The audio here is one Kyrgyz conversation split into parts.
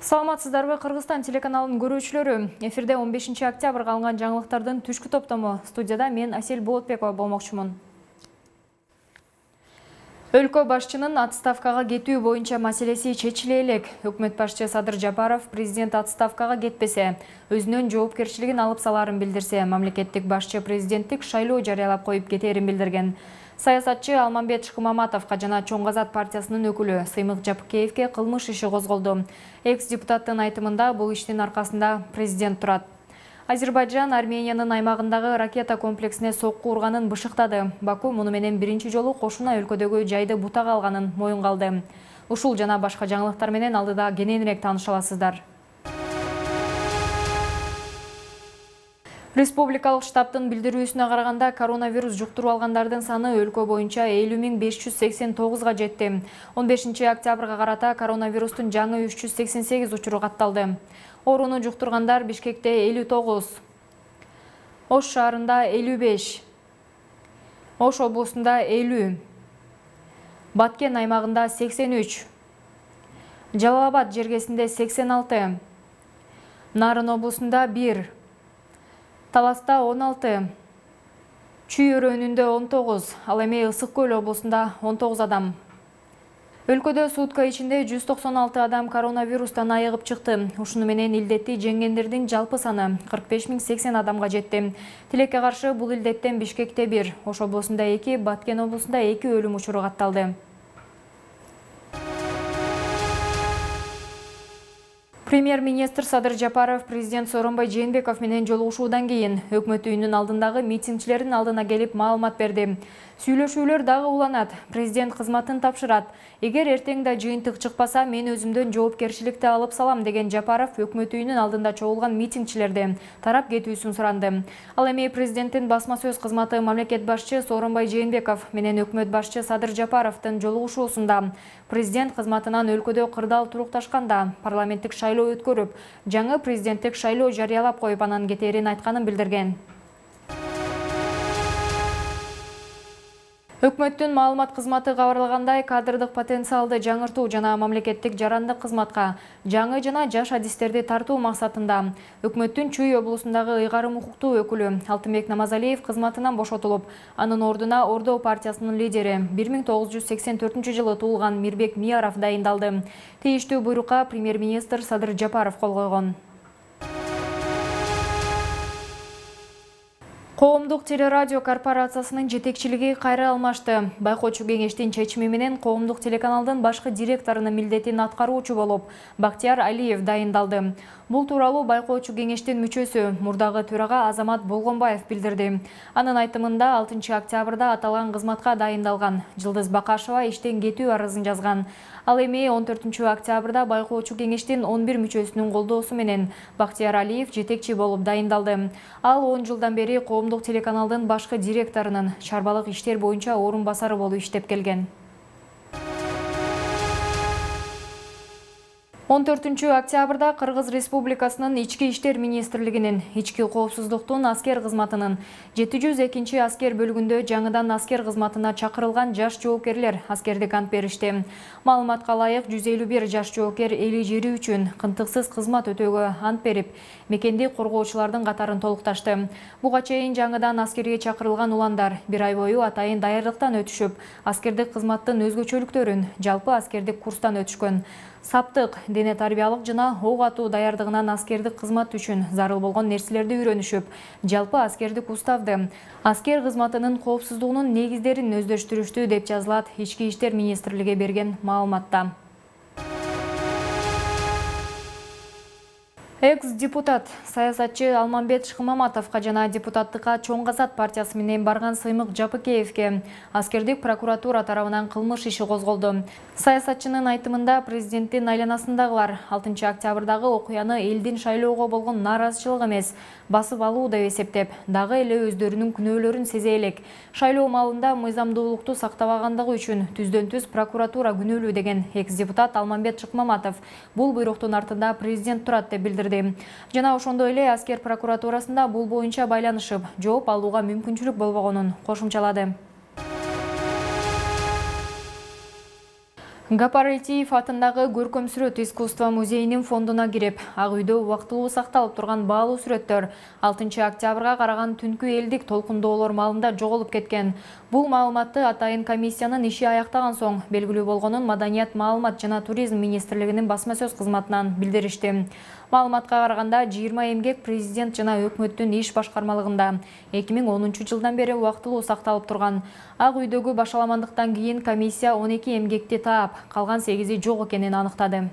Саламатсыздарбы, Кыргызстан телеканалынын көрүүчүлөрү. Эфирде 15 октябрга алынган жаңылыктардын түшкү топтому. Студияда мен Асель Болотбекова болмокчумун. Өлкө башчынын отставкага кетүү боюнча маселеси чечиле элек. Өкмөт башчы Садыр Жапаров президент отставкага кетпесе, өзүнүн жоопкерчилигин алып саларын билдирсе, мамлекеттик башчы президенттик шайлоо жарыялап коюп кетерин билдирген. Саясатчы Алмамбет Шыкмаматовго жана Чоң Азат партиясынын өкүлү Сыймык Жапыкеевге кылмыш иши козголду. Экс-депутаттын айтымында бул иштин аркасында президент турат. Азербайджан Армениянын аймагындагы ракета комплексине сокку урганын бышыктады. Баку муну менен биринчи жолу кошуна өлкөдөгү жайды бутага алганын моюнга алды. Ушул жана башка жаңылыктар менен алдыда кененирээк тааныша аласыздар. Республикалык штабтын билдирүүсүнө караганда коронавирус жуктуруп алгандардын саны өлкө боюнча 50.589 жетти. 15 октябрга карата коронавирустун жаңы 388 учуру катталды. Орууну жуктургандар Бишкекте 59, Ош шаарында 55, Ош облусунда 50, Баткен аймагында 83, Жалал Абад жергесинде 86, Нарын облусунда 1, Таласта 16, Чүй өрөөнүндө 19, ал эми Ысык Көл облусунда 19 адам. Өлкөдө сутка ичинде 196 адам коронавирустан айыгып чыкты. Ушуну менен илдетти жеңгендердин жалпы саны 45.080 адамга жетти. Тилекке каршы бул илдеттен Бишкекте 1, Ош облусунда 2, Баткен облусунда 2 өлүм учуру катталды. Премьер-министр Садыр Жапаров президент Сооронбай Жээнбеков менен жолугушуудан кийин өкмөт үйүнүн алдындагы митингчилердин алдына келип маалымат берди. Сүйлөшүүлөр дагы уланат. Президент кызматын тапшырат. Эгер эртең да жыйынтык чыкпаса, мен өзүмдөн жоопкерчиликти алып салам деген Жапаров өкмөт үйүнүн алдында чогулган митингчилерди тарап кетүүсүн суранды. Ал эми президенттин басма сөз кызматы мамлекет башчы Сооронбай Жээнбеков менен өкмөт башчы Садыр Жапаровдун жолугушуусунда президент кызматынан өлкөдө кырдаал турукташканда парламенттик шайлоо өткөрүп, жаңы президенттик шайлоо жарыялап коюп анан кетерин айтканын билдирген. Өкмөттүн маалымат кызматы кабарлагандай, кадрдык потенциалды жаңыртуу жана мамлекеттик жарандык кызматка жаңы жана жаш адистерди тартуу максатында өкмөттүн Чүй облусундагы ыйгарым укуктуу өкүлү Алтынбек Намазалиев кызматынан бошотулуп, анын ордуна Ордо партиясынын лидери 1984-жылы туулган Мирбек Мияров дайындалды. Тийиштүү буйрукка премьер-министр Садыр Жапаров кол койгон. Коомдук телерадио корпорациясынын жетекчилиги кайра алмашты. Байкоочу кеңештин чечими менен коомдук телеканалдын башкы директорунун милдетин аткаруучу болуп Бактияр Алиев дайындалды. Бул тууралуу байкоочу кеңештин мүчөсү, мурдагы төрага Азамат Болгонбаев билдирди. Анын айтымында 6 октябрда аталган кызматка дайындалган Жылдыз Бакашева иштен кетүү арызын жазган. Ал эми 14 октябрда байкоочу кеңештин 11 мүчөсүнүн колдоосу менен Бактияр Алиев жетекчи болуп дайындалды. Ал 10 жылдан бери коомдук телеканалдын башкы директорунун чарбалык иштер боюнча орун басары болуп иштеп келген. 14 октябрда Кыргыз Республикасынын Ички иштер министрлигинин ички коопсуздуктун аскер кызматынын 702 аскер бөлүгүндө жаңыдан аскер кызматына чакырылган жаш жоокерлер аскердик ант беришти. Маалыматка ылайык 151 жаш жоокер эли жери үчүн кынтыксыз кызмат өтөөгө ант берип, мекенди коргоочулардын катарын толукташты. Буга чейин жаңыдан аскерге чакырылган уландар 1 ай бою атайын даярдыктан өтүшүп, аскердик кызматтын өзгөчөлүктөрүн жалпы аскердик курстан өтүшкөн. Саптык, дене тарбиялык жана ок атуу даярдыгынан аскердик кызмат үчүн зарыл болгон нерселерди үйрөнүшүп, жалпы аскердик уставды, аскер кызматынын коопсуздугунун негиздерин өздөштүрүштү деп жазылат Ички иштер министрлиги берген маалыматта. Экс-депутат саясатчы Алмамбет Шыкмаматовго жана депутаттыкка Чоң Азат партиясы менен барган Сыймык Жапыкеевге аскердик прокуратура тарабынан кылмыш иши козголду. Саясатчынын айтымында президенттин айланасындагылар 6 октябрдагы окуяны элдин шайлоого болгон нааразычылык эмес, басып алуу деп эсептеп, дагы эле өздөрүнүн күнөөлөрүн сезе элек. Шайлоо маалында мыйзамдуулукту сактабагандыгы үчүн түздөн-түз прокуратура күнөөлүү деген экс-депутат Алмамбет Шыкмаматов бул буйруктун артында президент турат деп билдирди. Жана ошондой эле аскер прокуратурасында бул боюнча байланышып, жооп алууга мүмкүнчүлүк болбогонун кошумчалады. Гапаритиев атындагы көркөм сүрөт искусство музейинин фондуна кирип, Ак үйдө убактылуу сакталып турган баалуу сүрөттөр 6 октябрга караган түнкү элдик толкундоолор маалында жоголуп кеткен. Бул маалыматты атайын комиссиянын иши аяктаган соң белгилүү болгонун Маданият, маалымат жана туризм министрлигинин басма сөз кызматынан билдиришти. Маалыматка караганда 20 эмгек президент жана өкмөттүн иш башкармалыгында 2010 жылдан бери убактылуу сакталып турган. Ак үйдөгү башаламандыктан кийин комиссия 12 эмгекти таап, калган 8-и жок экенин аныктады.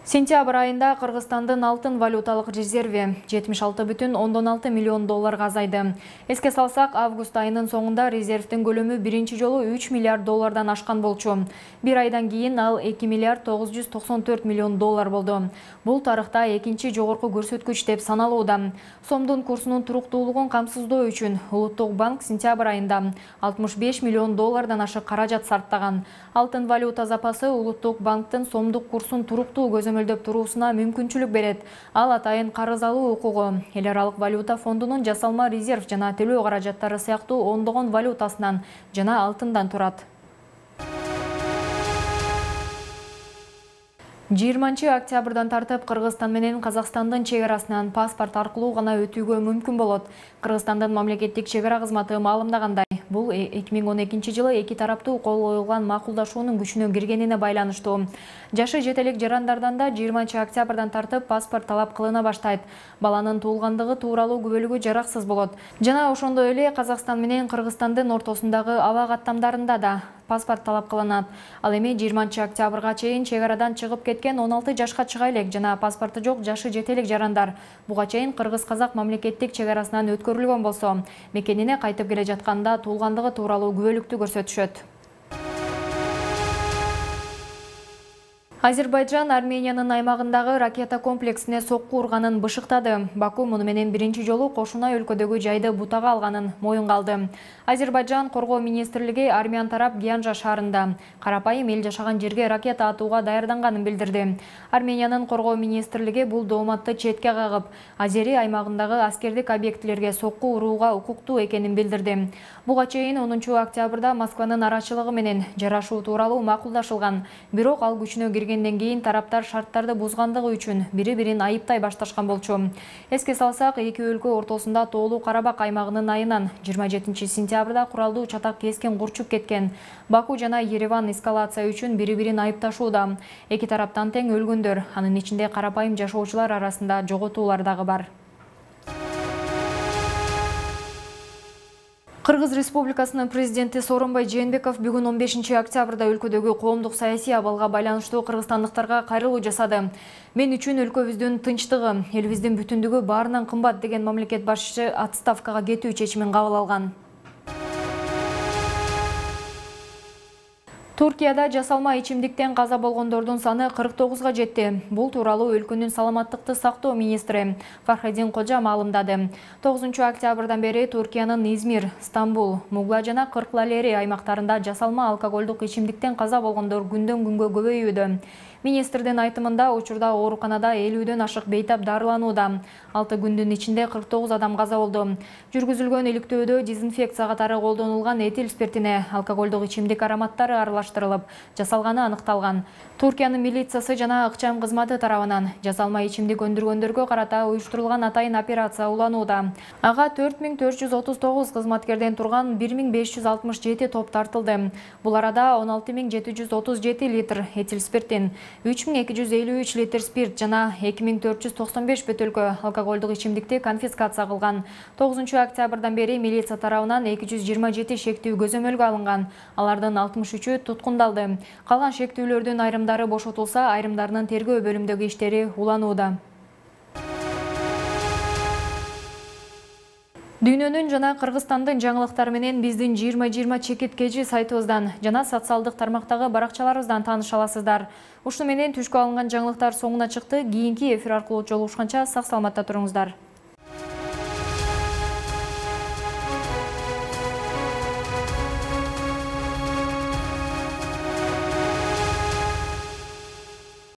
Сентябрь айында Кыргызстандын алтын валюталык резерви 76,6 миллион долларга азайды. Эске салсак, август айынын соңунда резервдин көлөмү биринчи жолу 3 миллиард доллардан ашкан болчу. Bir айдан кийин ал 2 миллиард 994 миллион доллар болду. Бул тарыхта экинчи жогорку көрсөткүч деп саналууда. Сомдун курсунун туруктуулугун камсыздоо үчүн Улуттук банк сентябрь айында 65 миллион доллардан ашык каражат сарптаган. Алтын валюта запасы Улуттук банктын сомдук курсун туруктуу көзөмөлдөп туруусуна мүмкүнчүлүк берет. Ал атайын карыз алуу укугу, эл аралык валюта фондунун жасалма резерв жана төлөө каражаттары сыяктуу ондогон валютасынан жана алтындан турат. 20 октябрдан тартып Кыргызстан менен Казакстандын чек арасынан паспорт аркылуу гана өтүүгө мүмкүн болот. Кыргызстандын мамлекеттик чек ара кызматы маалымдагандай, бул 2012 жылы эки тараптуу кол коюлган макулдашуунун күчүнө киргенине байланыштуу. Жашы жете элек жарандардан да 20 октябрдан тартып паспорт талап кылына баштайт. Баланын туулгандыгы тууралуу күбөлүгү жараксыз болот. Жана ошондой эле Казакстан менен Кыргызстандын ортосундагы аба каттамдарында да паспорт талап кылынат. Ал эми 20 октябрга чейин чек арадан чыгып кеткен 16 жашка чыга элек жана паспорту жок жашы жете элек жарандар буга чейин Кыргыз-Казак мамлекеттик чек арасынан өткөрүлгөн болсо, мекенине кайтып келе жатканда туулгандыгы тууралуу күбөлүктү көрсөтүшөт. Азербайджан Армениянын аймагындагы ракета комплексине сокку урганын бышыктады. Баку муну менен биринчи жолу кошуна өлкөдөгү жайды бутага алганын моюнга алды. Азербайджан коргоо министрлиги армян тарап Гянжа шаарында карапайым эл жашаган жерге ракета атууга даярданганын билдирди. Армениянын коргоо министрлиги бул дооматты четке кагып, Азери аймагындагы аскердик объектилерге сокку урууга укуктуу экенин билдирди. Буга чейин 10 октябрда Москванын арачылыгы менен жарашуу тууралуу макулдашылган. Бирок ал күчүнө киргенден кийин тараптар шарттарды бузгандыгы үчүн бири-бирин айыптай башташкан болчу. Эске салсак, эки өлкө ортосунда Тоолуу Карабак аймагынын айынан 27 сентябрда куралдуу чатак кескен курчуп кеткен. Баку жана Ереван эскалация үчүн бири-бирин айыпташууда. Эки тараптан тең өлгөндөр, анын ичинде карапайым жашоочулар арасында жоготуулар дагы бар. Кыргыз Республикасынын президенти Сооронбай Жээнбеков бүгүн 15 октябрда өлкөдөгү коомдук саясий абалга байланыштуу кыргызстандыктарга кайрылуу жасады. Мен үчүн өлкөбүздүн тынчтыгы, элибиздин бүтүндүгү баарынан кымбат деген мамлекет башчысы отставкага кетүү чечимин кабыл алган. Туркияда жасалма ичимдиктен каза болгондордун саны 49га жетти. Бул тууралуу өлкөнүн саламаттыкты сактоо министри Фархадин Кожа маалымдады. 9 октябрдан бери Туркиянын Измир, Стамбул, Мугла жана Кырклалери аймактарында жасалма алкоголдук ичимдиктен каза болгондор күндөн күнгө көбөйүүдө. Министрдин айтымында учурда ооруканада 50дөн ашык бейтап дарыланууда. 6 күндүн ичинде 49 адам каза болду. Жүргүзүлгөн иликтөөдө дезинфекция катары колдонулган этил спиртине алкоголдук ичимдик ароматтары аралаштырылып, жасалганы аныкталган. Туркиянын милициясы жана ыкчам кызматы тарабынан жасалма ичимдик өндүргөндөргө карата уюштурулган атайын операция уланууда. Ага 4439 кызматкерден турган 1567 топ тартылды. Бул арада 16737 литр этил спиртин, 3253 литр спирт жана 2495 бөтөлкө алкоголдук ичимдикти конфискация кылган. 9 октябрдан бери милиция тарабынан 227 шектүү көзөмөлгө алынган. Алардын 63-ü туткундалды. Калган шектүүлөрдүн айрымдары бошотулса, айрымдарынын тергөө бөлүмдөгү иштери уланууда. Дүйнөнүн жана Кыргызстандын жаңылыктары менен биздин 2020 чекиткежи сайтыбыздан жана социалдык тармактагы баракчаларыбыздан тааныша аласыздар. Ушуну менен түшкө алынган жаңылыктар соңуна чыкты. Кийинки эфир аркылуу жолугушканча сак саламатта туруңуздар.